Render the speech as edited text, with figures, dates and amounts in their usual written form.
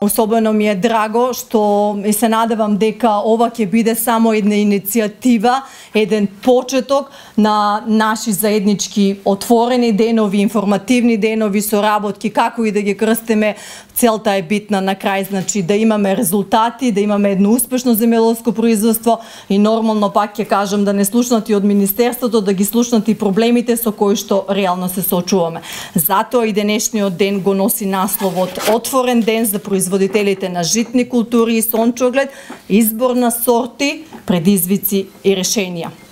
Особено ми е драго што се надевам дека ова ќе биде само една иницијатива, еден почеток на наши заеднички отворени денови, информативни денови, соработки, како и да ги крстиме. Целта е битна на крај, значи да имаме резултати, да имаме едно успешно земјоделско производство и нормално пак ќе кажам да не слушнат и од Министерството, да ги слушнат и проблемите со кои што реално се соочуваме. Затоа и денешниот ден го носи насловот Отворен ден за производителите на житни култури и сончоглед, избор на сорти, предизвици и решенија.